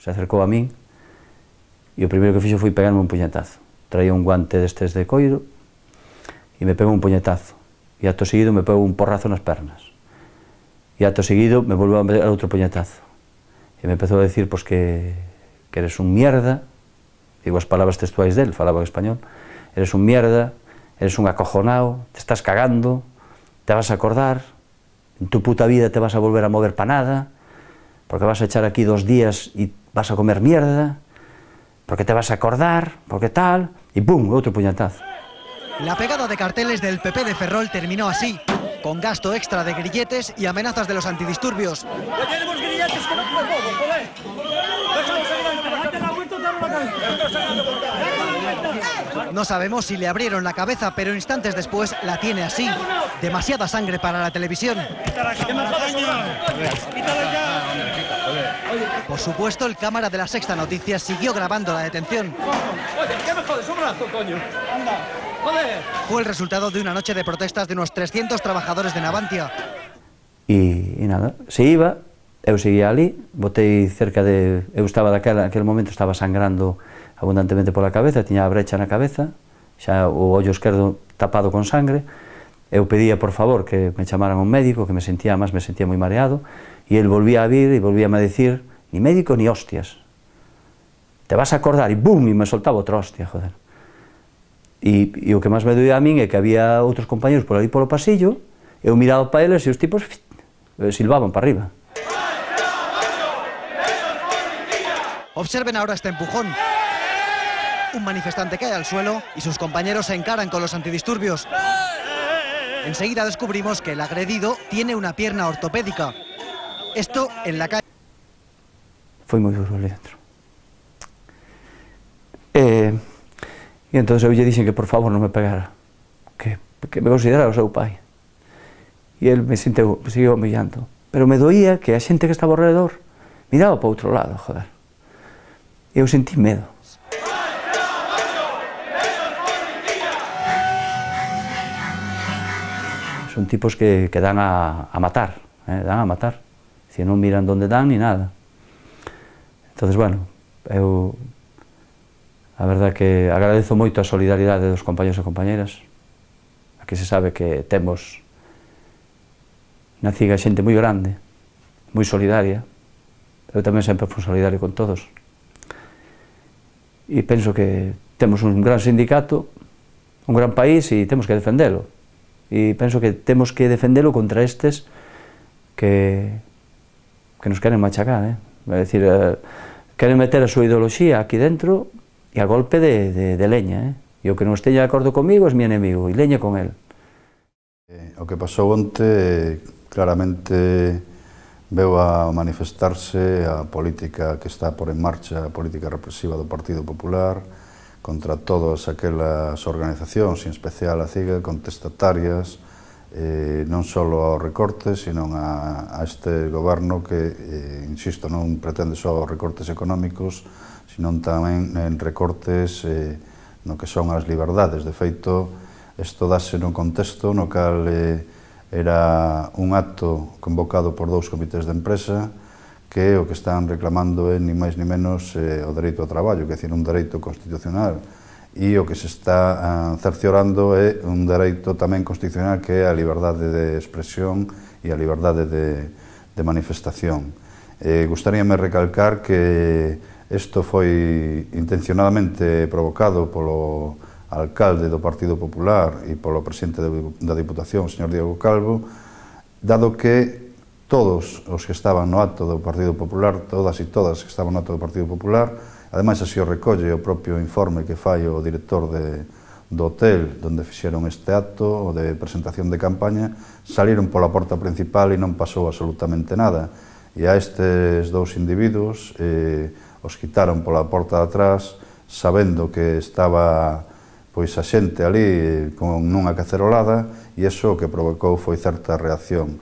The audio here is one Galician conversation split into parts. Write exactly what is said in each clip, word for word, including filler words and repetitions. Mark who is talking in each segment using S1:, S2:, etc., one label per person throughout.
S1: se acercou a min e o primeiro que fixo foi pegarme un puñetazo. Traía un guante destes de coiro e me pegou un puñetazo. E acto seguido me pegou un porrazo nas pernas. E acto seguido me volveu a pegar outro puñetazo. E me empezou a decir pois, que, que eres un mierda, digo as palabras textuais del, falaba en español, eres un mierda, eres un acojonao, te estás cagando, te vas a acordar, en tu puta vida te vas a volver a mover pa nada, porque vas a echar aquí dos días y vas a comer mierda, porque te vas a acordar, porque tal, y ¡pum!, otro puñetazo.
S2: La pegada de carteles del P P de Ferrol terminó así, con gasto extra de grilletes y amenazas de los antidisturbios.
S3: ¡Ya tenemos grilletes que no podemos, joder! ¡Déjanos adelante!
S2: No sabemos si le abrieron la cabeza, pero instantes después la tiene así. Demasiada sangre para la televisión. Por supuesto, el cámara de la Sexta Noticias siguió grabando la detención.
S3: Oye, ¿qué me jodes? Un brazo, coño. Anda, joder.
S2: Fue el resultado de una noche de protestas de unos trescientos trabajadores de Navantia.
S1: E, e nada, se iba, eu seguía ali, botei cerca de... Eu estaba daquela, naquele momento estaba sangrando abundantemente pola cabeza, tiña a brecha na cabeza, xa o ollo esquerdo tapado con sangre. Eu pedía, por favor, que me chamaran un médico, que me sentía, máis me sentía moi mareado, e el volvía a vir e volvía a decir, ni médico ni hostias, te vas a acordar, e bum, e me soltaba outra hostia, joder. E, e o que máis me doía a min é que había outros compañeros por ali polo pasillo, eu miraba para eles e os tipos silbaban para arriba.
S2: Observen ahora este empujón. Un manifestante cae al suelo y sus compañeros se encaran con los antidisturbios. Enseguida descubrimos que el agredido tiene una pierna ortopédica. Esto en la calle.
S1: Foi moi duro ali dentro. E, e entón eu lle dixen que por favor non me pegara, que, que me considerara o seu pai. E el me sinteu, me seguiu humillando. Pero me doía que a xente que estaba ao redor miraba para outro lado, joder. E eu sentí medo. Son tipos que, que dan a, a matar, eh, dan a matar. Si non miran donde dan ni nada. Entonces, bueno, eu a verdade que agradezo moito a solidaridade dos compañeros e compañeras. Aquí se sabe que temos na Ciga xente moi grande, moi solidaria. Eu tamén sempre fui solidario con todos. E penso que temos un gran sindicato, un gran país e temos que defendelo. E penso que temos que defendelo contra estes que, que nos queren machacar, eh? É dicir, eh, queren meter a súa ideoloxía aquí dentro e a golpe de, de, de leña, eh? E o que non esteña de acordo comigo é mi enemigo, e leña con el.
S4: Eh, o que pasou onte, claramente, veu a manifestarse a política que está por en marcha, a política represiva do Partido Popular, contra todas aquelas organizacións, en especial a CIGA, contestatarias, eh, non só aos recortes, sino a, a este goberno que, eh, insisto, non pretende só os recortes económicos, sino tamén en recortes eh, no que son as liberdades. De feito, isto dáse nun contexto no cal eh, era un acto convocado por dous comités de empresa que o que están reclamando é ni máis ni menos eh, o dereito ao traballo, que é dicir, un dereito constitucional, e o que se está ah, cerciorando é un dereito tamén constitucional que é a liberdade de expresión e a liberdade de, de manifestación. Eh, gustaríame recalcar que isto foi intencionadamente provocado polo alcalde do Partido Popular e polo presidente da Diputación, o señor Diego Calvo, dado que todos os que estaban no acto do Partido Popular, todas e todas que estaban no acto do Partido Popular, ademais así o recolle o propio informe que fai o director de, do hotel onde fixeron este acto, o de presentación de campaña, saliron pola porta principal e non pasou absolutamente nada. E a estes dous individuos eh, os quitaron pola porta de atrás, sabendo que estaba pois a xente ali con nunha cacerolada, e iso o que provocou foi certa reacción.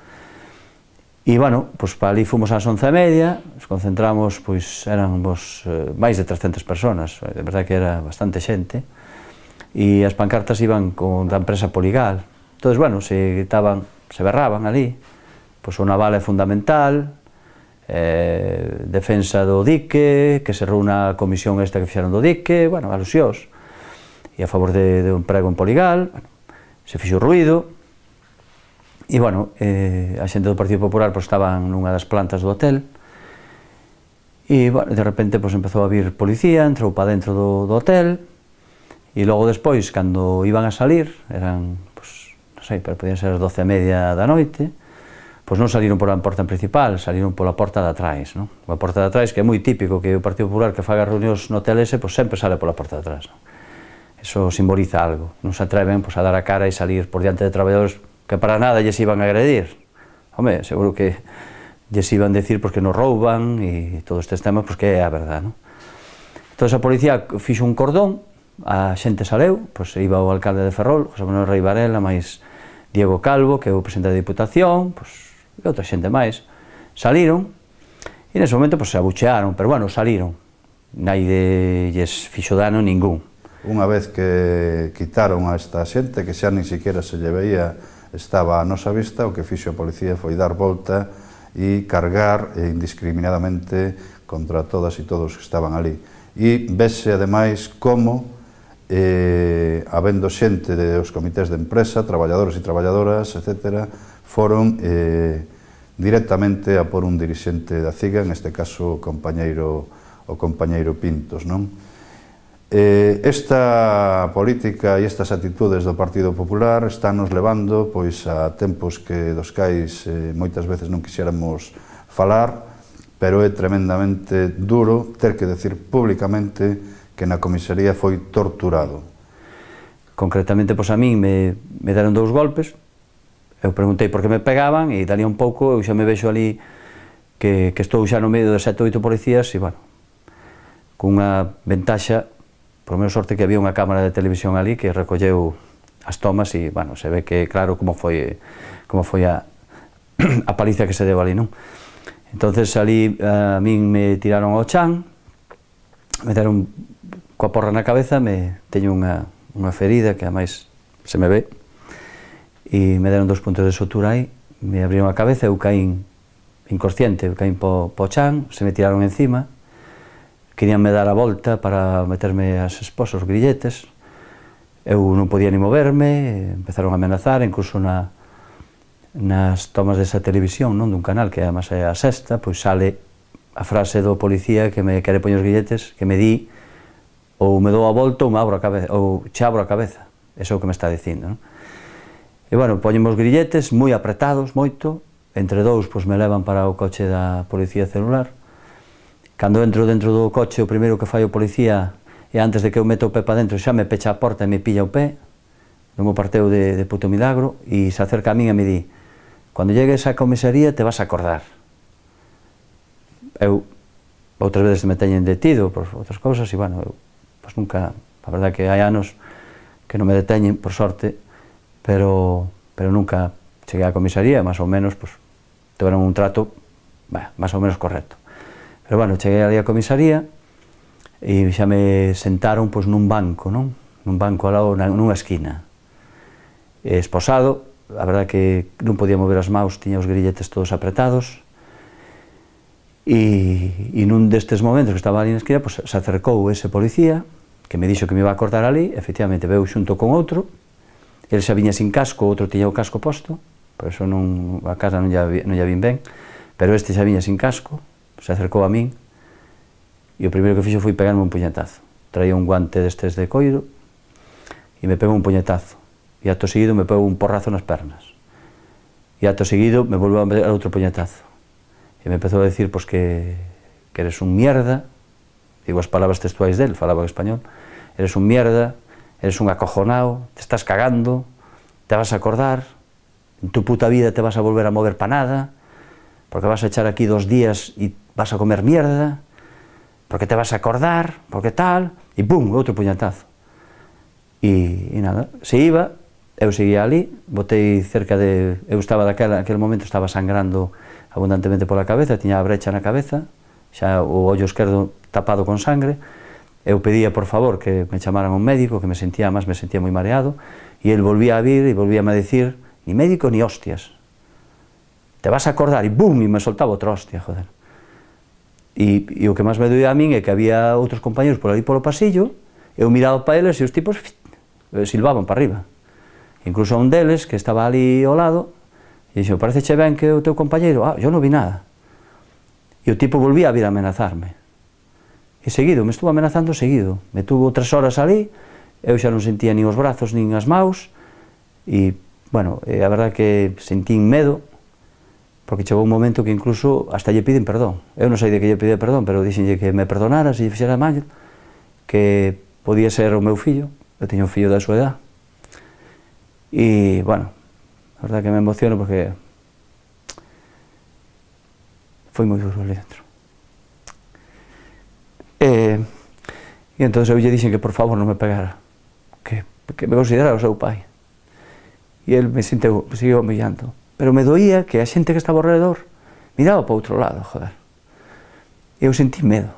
S1: E, bueno, pois para ali fomos ás once e media, nos concentramos, pois éramos eh, máis de trescentas personas, de verdade que era bastante xente, e as pancartas iban con da empresa Poligal. Entón, bueno, se gritaban, se berraban ali, pois o naval é fundamental, eh, defensa do dique, que se reúna a comisión esta que fixeron do dique, bueno, alusións, e a favor de, de un emprego en Poligal, bueno, se fixo ruido, e, bueno, eh, a xente do Partido Popular pues, estaban nunha das plantas do hotel, e, bueno, de repente pues, empezou a vir policía, entrou para dentro do, do hotel, e logo despois, cando iban a salir, eran, pues, non sei, pero podían ser as doce e media da noite, pois non saliron pola porta principal, saliron pola porta de atrás, non? A porta de atrás, que é moi típico que o Partido Popular que faga reunións no hotel ese, pois sempre sale pola porta de atrás, non? Eso simboliza algo, non se atreven pois, a dar a cara e salir por diante de traballadores que para nada lles iban a agredir. Home, seguro que lles iban a decir pois, que nos rouban e todos estes temas, pois que é a verdade, non? Entón a policía fixo un cordón, a xente saleu, pois iba o alcalde de Ferrol, José Manuel Rei Varela, máis Diego Calvo, que é o presidente da Diputación, pois e outra xente máis, saliron, e nese momento pues, se abuchearon, pero bueno, saliron, naide lles fixo dano ningún.
S4: Unha vez que quitaron a esta xente, que xa nin siquiera se lle veía, estaba a nosa vista, o que fixo a policía foi dar volta e cargar indiscriminadamente contra todas e todos que estaban ali. E vese, ademais, como, eh, habendo xente dos comités de empresa, traballadores e traballadoras, etcétera, foron eh, directamente a por un dirixente da C I G A, en este caso o compañeiro, o compañeiro Pintos, non? Eh, esta política e estas actitudes do Partido Popular están nos levando pois, a tempos que dos cais eh, moitas veces non quixéramos falar, pero é tremendamente duro ter que decir públicamente que na comisaría foi torturado.
S1: Concretamente, pois a min me, me deron dous golpes. Eu preguntei por que me pegaban e dali un pouco eu xa me vexo ali que, que estou xa no medio de sete ou oito policías e, bueno, cunha ventaxa, por menos sorte que había unha cámara de televisión ali que recolleu as tomas e, bueno, se ve que claro como foi, como foi a, a paliza que se deu ali, non? Entonces ali a min me tiraron ao chan, me deron coa porra na cabeza, me teño unha, unha ferida que ademais se me ve, e me deron dos puntos de sutura aí, me abriron a cabeza, eu caín inconsciente, eu caín po, po chan, se me tiraron encima, queríanme dar a volta para meterme as esposas, os grilletes, eu non podía ni moverme, empezaron a amenazar, incluso na, nas tomas desa televisión, non, dun canal que además é a Sexta, pois sale a frase do policía que me quere poñer os grilletes, que me di ou me dou a volta ou me abro a cabeza, ou che abro a cabeza, eso é o que me está dicindo, non? E, bueno, poñemos os grilletes moi apretados, moito, entre dous, pois, me levan para o coche da policía celular. Cando entro dentro do coche, o primeiro que fai o policía, e antes de que eu meto o pé para dentro, xa me pecha a porta e me pilla o pé, non me parteu de, de puto milagro, e se acerca a min e me di, cando llegues á comisaría te vas a acordar. Eu, outras veces me teñen detido por outras cousas, e, bueno, eu, pois, nunca, a verdade que hai anos que non me deteñen, por sorte, pero, pero nunca cheguei á comisaría, máis ou menos, pues, tiveron un trato, bah, máis ou menos correcto. Pero, bueno, cheguei ali á comisaría e xa me sentaron, pues, nun banco, non? Nun banco ao lado, nunha esquina. Esposado, a verdade que non podía mover as maus, tiña os grilletes todos apretados, e, e nun destes momentos que estaba ali na esquina, pues, se acercou ese policía, que me dixo que me iba a cortar ali, efectivamente, veu xunto con outro, ele xa viña sin casco, outro tiña o casco posto, por eso non, a casa non lla, non lla vin ben, pero este xa viña sin casco, se acercou a min, e o primeiro que fixo foi pegarme un puñetazo. Traía un guante destes de coiro, e me pegou un puñetazo, e acto seguido me pegou un porrazo nas pernas, e acto seguido me volveu a meter outro puñetazo, e me empezou a decir, pois, que, que eres un mierda, digo as palabras textuais del, falaba en español, eres un mierda, eres un acojonao, te estás cagando, te vas a acordar, en tu puta vida te vas a volver a mover pa nada, porque vas a echar aquí dos días y vas a comer mierda, porque te vas a acordar, porque tal, e pum, outro puñetazo. E, e nada, se iba, eu seguía ali, botei cerca de, eu estaba daquela, aquel momento estaba sangrando abundantemente pola cabeza, tiña a brecha na cabeza, xa o ollo esquerdo tapado con sangre. Eu pedía, por favor, que me chamaran un médico, que me sentía, máis me sentía moi mareado, e el volvía a vir e volvíame a decir, ni médico ni hostias, te vas a acordar, e bum, e me soltaba outra hostia, joder. E, e o que máis me doía a min é que había outros compañeros por ali polo pasillo, eu miraba para eles e os tipos silbaban para arriba. Incluso a un deles, que estaba ali ao lado, e dixo, pareceche ben que o teu compañeiro? Ah, eu non vi nada. E o tipo volvía a vir a amenazarme. E seguido, me estuvo amenazando seguido. Me tuvo tres horas ali, eu xa non sentía nin os brazos nin as maus, e, bueno, a verdade que sentín medo, porque chegou un momento que incluso hasta lle piden perdón. Eu non sei de que lle pide perdón, pero dixenlle que me perdonara se lle fixera mal, que podía ser o meu fillo, eu teño un fillo da súa edad. E, bueno, a verdade que me emociono porque foi moi duro ali dentro. E, e entón eu lle dixen que por favor non me pegara, que, que me considerara o seu pai. E el me senteu, me seguiu humillando. Pero me doía que a xente que estaba ao redor miraba para outro lado, joder. Eu sentí medo.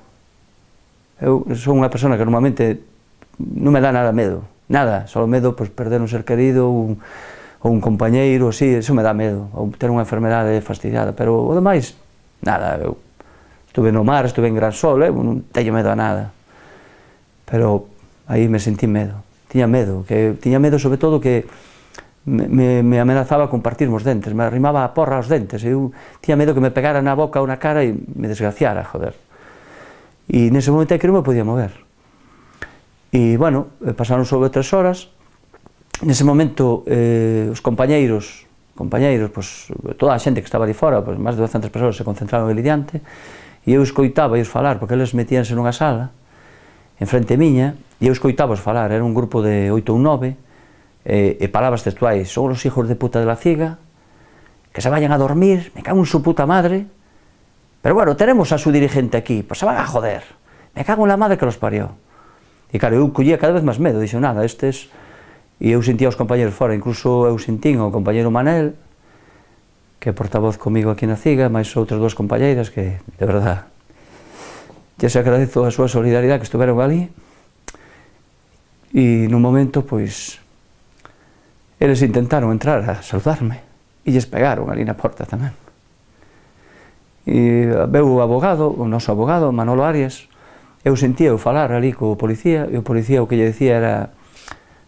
S1: Eu son unha persona que normalmente non me dá nada medo, nada, só medo pois, perder un ser querido ou un, ou un compañeiro, así, eso me dá medo, ou ter unha enfermedade fastidiada, pero o demais, nada, eu estuve no mar, estuve en Gran Sol, eu non teño medo a nada, pero aí me sentí medo, tiña medo, que tiña medo sobre todo que me, me, me amenazaba con partirme os dentes, me arrimaba a porra aos dentes, eu tiña medo que me pegara na boca ou na cara e me desgraciara, joder. E nese momento é que non me podía mover. E, bueno, pasaron sobre tres horas, nese momento eh, os compañeiros, compañeiros, pois, toda a xente que estaba ali fora, pois, máis de douscentas persoas se concentraron ali diante, e eu escoitaba eles falar, porque eles metíanse nunha sala, en frente miña, e eu escoitaba os falar, era un grupo de oito ou nove, e, e palabras textuais, son os hijos de puta de la ciga, que se vayan a dormir, me cago en su puta madre, pero bueno, tenemos a su dirigente aquí, pues se van a joder, me cago en la madre que los parió. E claro, eu collía cada vez máis medo, dixo, nada, estes... E eu sentía os compañeros fora, incluso eu sentín o compañeiro Manel, que é portavoz comigo aquí na Ciga, máis outras dúas compañeiras que, de verdad, ya se agradezo a súa solidaridade que estuveron ali. E nun momento, pois, eles intentaron entrar a saludarme e lles pegaron ali na porta tamén. E veu o abogado, o noso abogado, Manolo Arias, eu sentía eu falar ali co policía, e o policía o que lle decía era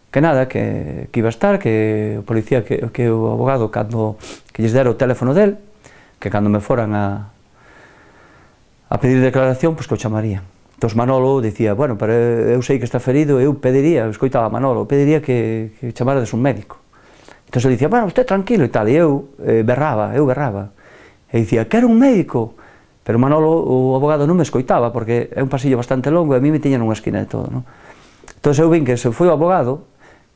S1: que nada, que, que iba a estar, que o policía, que, que o abogado, cando que lles dera o teléfono del, que cando me foran a, a pedir declaración, pois que o chamarían. Entón Manolo dicía, bueno, pero eu sei que está ferido, eu pediría, eu escoitaba a Manolo, pediría que, que chamarades un médico. Entón ele dicía, bueno, usted tranquilo e tal, e eu eh, berraba, eu berraba. E dicía, quero un médico. Pero Manolo, o abogado, non me escoitaba, porque é un pasillo bastante longo e a mí me tiñan unha esquina de todo, non? Entón eu vin que se foi o abogado,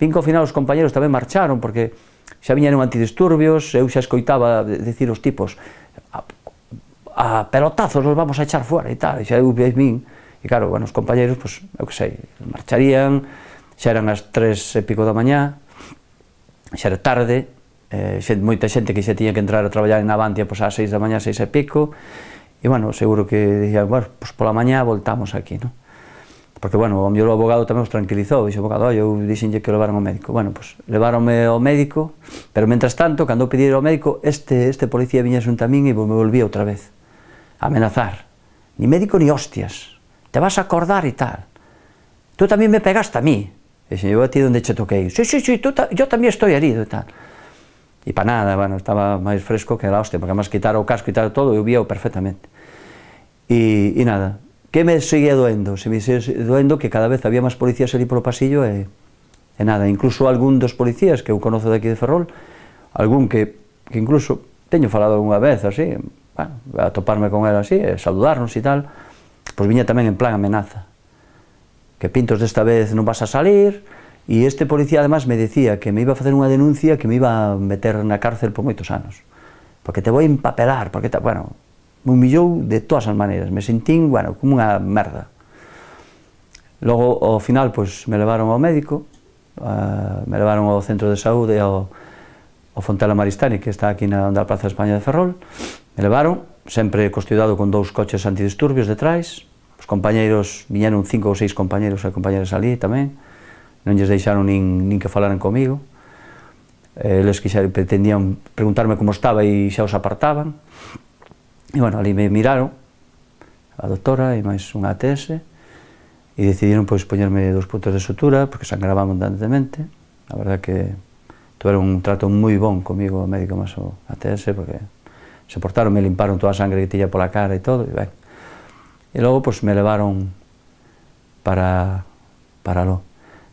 S1: vin que ao final os compañeros tamén marcharon, porque xa viñeron antidisturbios, eu xa escoitaba decir os tipos, a, a pelotazos los vamos a echar fora e tal, e xa eu vin, e claro, bueno, os compañeros, pois, eu que sei, marcharían, xa eran as tres e pico da mañá, xa era tarde, eh, xe, moita xente que xa tiña que entrar a traballar en Avantia pois, ás seis da mañá, seis e pico, e, bueno, seguro que dicían, bueno, pois pola mañá voltamos aquí, non? Porque, bueno, o mellor o abogado tamén os tranquilizou, dixo o abogado, oi, eu dixenlle que o levaron ao médico. Bueno, pois, levaronme ao médico, pero, mentras tanto, cando eu pedi ao médico, este, este policía viña xunto a min e me volvía outra vez a amenazar. Ni médico ni hostias, te vas a acordar e tal. Tú tamén me pegaste a mí. Dixen, eu a ti onde che toquei. Sí, sí, sí, tú ta yo tamén estoy herido e tal. E pa nada, bueno, estaba máis fresco que la hostia, porque además quitar o casco e tal todo, eu vía-o perfectamente. E, e nada, que me seguía doendo? Se me seguía doendo que cada vez había máis policías ali polo pasillo e, e nada, incluso algún dos policías que eu conozo de aquí de Ferrol, algún que, que incluso teño falado unha vez así, bueno, a toparme con él así, e saludarnos e tal, pois viña tamén en plan amenaza, que pintos desta vez non vas a salir, e este policía además me decía que me iba a facer unha denuncia que me iba a meter na cárcel por moitos anos, porque te vou a empapelar, porque, ta, bueno, me humillou de todas as maneiras, me sentín, bueno, como unha merda. Logo, ao final, pois, me levaron ao médico, uh, me levaron ao centro de saúde, ao, ao Fontela Maristani, que está aquí na, na Praza de España de Ferrol, me levaron, sempre custodiado con dous coches antidisturbios detrás, os compañeiros, viñeron cinco ou seis compañeiros e compañeras ali tamén, non lles deixaron nin, nin que falaran comigo, eles que xa pretendían preguntarme como estaba e xa os apartaban, e bueno, ali me miraron, a doutora e máis unha A T S, e decidiron pois poñerme dos puntos de sutura, porque sangraba abundantemente. A verdad que tuveron un trato moi bon comigo, o médico máis o A T S, porque se portaron, me limparon toda a sangre que tiña pola cara e todo, e ben. E logo, pois, me levaron para, para lo.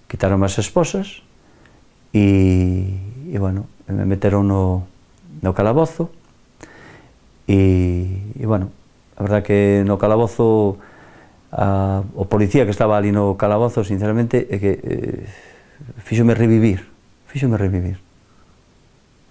S1: Quitaron as esposas e, e, bueno, me meteron no, no calabozo e, e, bueno, a verdad que no calabozo, a, o policía que estaba ali no calabozo, sinceramente, é que eh, fíxome revivir, fíxome revivir.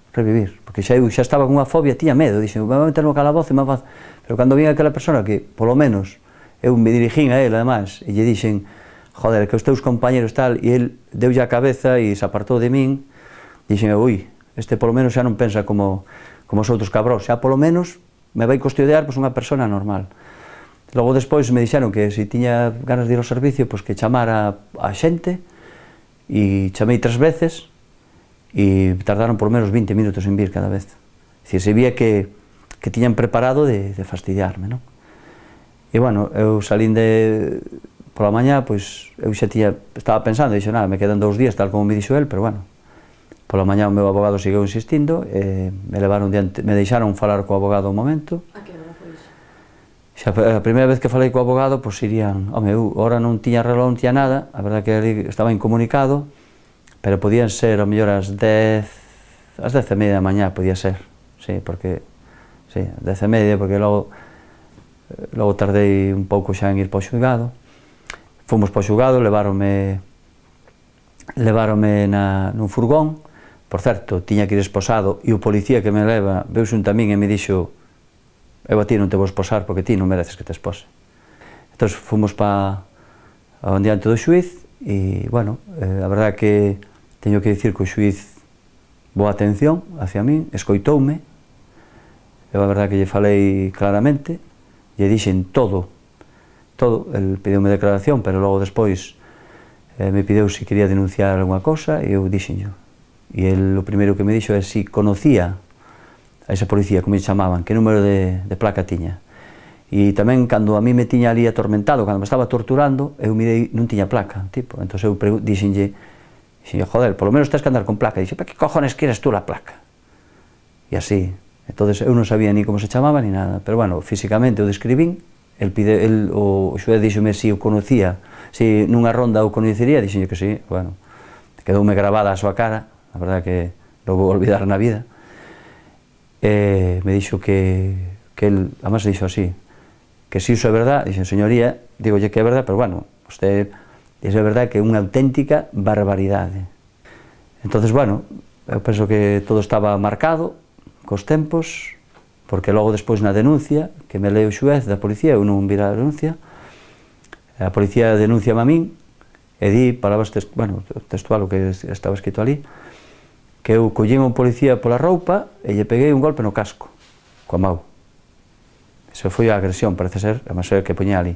S1: revivir, porque xa eu xa estaba con unha fobia, tiña medo, dixen, me vou meter no calabozo e me faz... Pero cando vin aquela persona que, polo menos, eu me dirigín a él, además, e lle dixen, joder, que os teus compañeros tal, e el deulle a cabeza e se apartou de min, dixen, ui, este polo menos xa non pensa como, como os outros cabros, xa polo menos me vai custodiar pois, unha persona normal. Logo despois me dixeron que se tiña ganas de ir ao servicio, pois que chamara a xente, e chamei tres veces, e tardaron por menos vinte minutos en vir cada vez. Es decir, se vía que, que tiñan preparado de, de fastidiarme, non? E, bueno, eu salín de... Pola mañá, pois, eu xa tiña... Estaba pensando, dixo, nada, me quedan dous días, tal como me dixo el, pero, bueno, pola mañá o meu abogado seguiu insistindo, e me levaron diante, me deixaron falar co abogado un momento.
S5: A que hora foi iso?
S1: Xa, a primeira vez que falei co abogado, pois, irían... Home, eu, ahora non tiña reloj, non tiña nada, a verdade que ali estaba incomunicado, pero podían ser, ao mellor, as dez, as dez e media da mañá, podía ser, sí, porque, sí, dez e media, porque logo, logo tardei un pouco xa en ir para o xulgado. Fomos para o xulgado, leváronme, leváronme na, nun furgón, por certo, tiña que ir esposado, e o policía que me leva, veu xunto a min e me dixo, eu a ti non te vou esposar, porque ti non mereces que te espose. Entón, fomos para, a diante do xuiz, e, bueno, eh, a verdade que teño que dicir que o xuiz boa atención hacia min, escoitoume, eu a verdade que lle falei claramente, lle dixen todo, todo, el pideume declaración, pero logo despois eh, me pideu se quería denunciar alguna cosa, e eu dixenllo. E el, o primeiro que me dixo é se conocía a esa policía, como lle chamaban, que número de, de placa tiña. E tamén, cando a mí me tiña ali atormentado, cando me estaba torturando, eu mirei, non tiña placa, tipo, entón eu dixenlle, dixenlle, joder, polo menos tens que andar con placa. E dixe, pa que cojones queres tú la placa? E así, entón eu non sabía ni como se chamaba ni nada, pero, bueno, físicamente o describín, el pide, el, o xuez díxome se o conocía, se nunha ronda o coñecería, dixenlle que sí, bueno, quedoume grabada a súa cara, a verdade que non vou olvidar na vida, e me dixo que, que el, además dixo así, que si iso é verdad, dixen, señoría, digolle que é verdad, pero, bueno, usted, iso é verdad que é unha auténtica barbaridade. Entonces, bueno, eu penso que todo estaba marcado cos tempos, porque logo despois na denuncia, que me leu o xuez da policía, eu non vira a denuncia, a policía denunciame a min, e di, palabras, bueno, textual o que estaba escrito ali, que eu collín un policía pola roupa e lle peguei un golpe no casco, coa mau. Eso foi a agresión, parece ser, a máis que poñía ali.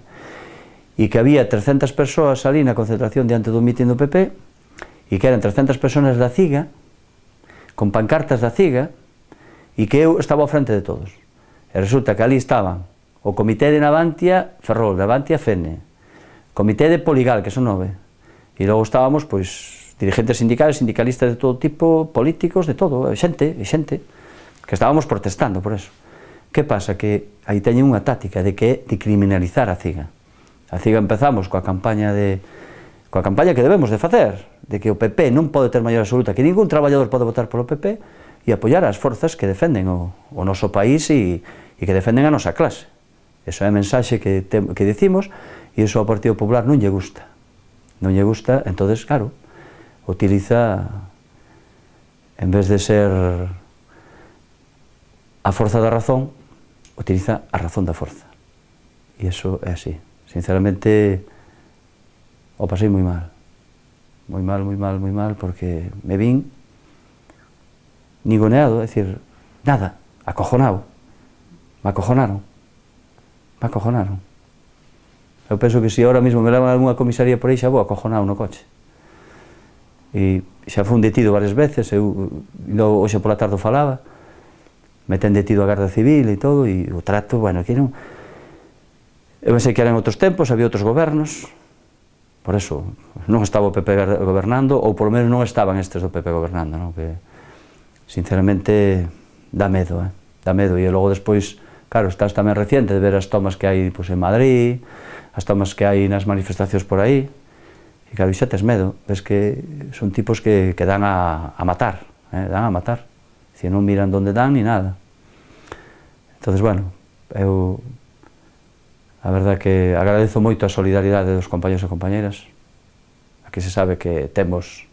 S1: E que había trescentas persoas ali na concentración diante do mitin do P P, e que eran trescentas persoas da CIGA, con pancartas da CIGA, e que eu estaba ao frente de todos. E resulta que ali estaban o Comité de Navantia Ferrol, Navantia Fene, Comité de Poligal, que son nove, e logo estábamos, pois, dirigentes sindicales, sindicalistas de todo tipo, políticos, de todo, xente, e xente, que estábamos protestando por eso. Que pasa? Que aí teñen unha táctica de que de criminalizar a CIGA. A CIGA empezamos coa campaña de coa campaña que debemos de facer, de que o P P non pode ter maior absoluta, que ningún traballador pode votar polo P P, e apoiar as forzas que defenden o, o noso país e, e que defenden a nosa clase. Esa é a mensaxe que, te, que decimos, e iso ao Partido Popular non lle gusta. Non lle gusta, entonces, claro, utiliza, en vez de ser a forza da razón, utiliza a razón da forza. E iso é así. Sinceramente, o pasei moi mal. Moi mal, moi mal, moi mal, porque me vin nigoneado, é dicir, nada, acojonado. Me acojonaron. Me acojonaron. Eu penso que se ahora mesmo me levan a alguna comisaría por aí xa vou acojonado no coche. E xa fui detido varias veces, eu hoxe pola tarde falaba, me ten detido a Garda Civil e todo, e o trato, bueno, que non... Eu pensei que eran outros tempos, había outros gobernos, por eso non estaba o P P gobernando, ou polo menos non estaban estes do P P gobernando, non? Que sinceramente dá medo, eh? dá medo, e logo despois, claro, estás tamén reciente de ver as tomas que hai pues, en Madrid, as tomas que hai nas manifestacións por aí, e claro, xa tes medo, ves que son tipos que, que dan a, a matar, eh? dan a matar, si non miran onde dan ni nada. Entonces, bueno, eu a verdade que agradezo moito a solidaridade dos compañeros e compañeras, aquí se sabe que temos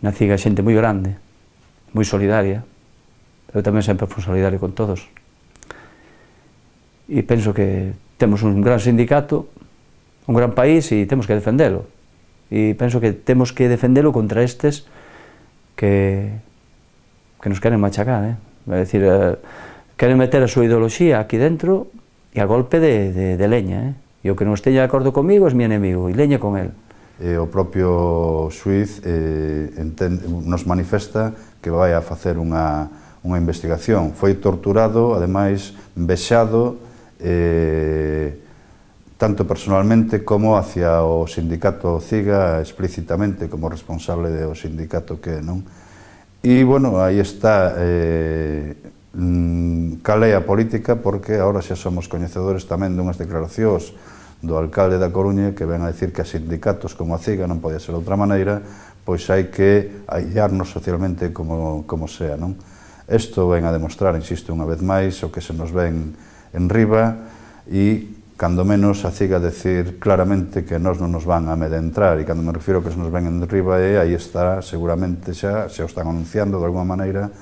S1: na CIGA xente moi grande, moi solidaria, eu tamén sempre fui solidario con todos, e penso que temos un gran sindicato, un gran país e temos que defendelo, e penso que temos que defendelo contra estes que, que nos queren machacar, eh? É dicir, eh, queren meter a súa ideoloxía aquí dentro e a golpe de, de, de leña, eh? E o que non esteña de acordo comigo é mi enemigo, e leña con el.
S4: E o propio xuiz eh, entende, nos manifesta que vai a facer unha, unha investigación. Foi torturado, ademais, vexado, eh, tanto personalmente como hacia o sindicato CIGA, explícitamente como responsable do sindicato que non. E, bueno, aí está... Eh, cal é a política, porque agora xa somos coñecedores tamén dunhas declaracións do alcalde da Coruña que ven a decir que a sindicatos como a CIGA non pode ser de outra maneira, pois hai que aillarnos socialmente como, como sea, non? Isto ven a demostrar, insisto unha vez máis, o que se nos ven en riba e cando menos a CIGA decir claramente que nós non nos van a amedrentar, e cando me refiro que se nos ven en riba é, aí está, seguramente xa, se o están anunciando de alguma maneira,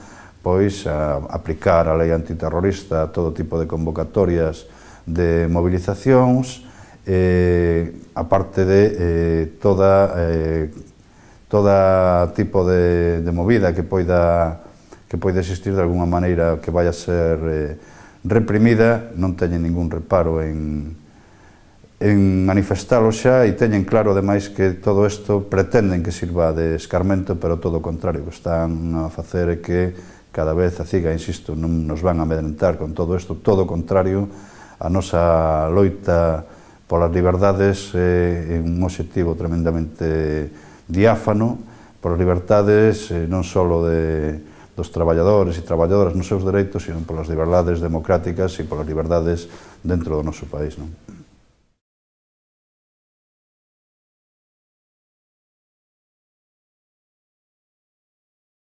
S4: pois a aplicar a lei antiterrorista a todo tipo de convocatorias de movilizacións, eh, aparte de eh, toda, eh, toda tipo de, de movida que poida, que poida existir de alguna maneira que vaya a ser eh, reprimida, non teñen ningún reparo en, en manifestalo xa, e teñen claro, ademais, que todo isto pretenden que sirva de escarmento, pero todo o contrario, que están a facer é que cada vez a CIGA, insisto, non nos van a amedrentar con todo isto, todo o contrario, a nosa loita polas liberdades é un obxectivo tremendamente diáfano, polas liberdades non só de, dos traballadores e traballadoras nos seus dereitos, sino polas liberdades democráticas e polas liberdades dentro do noso país, non?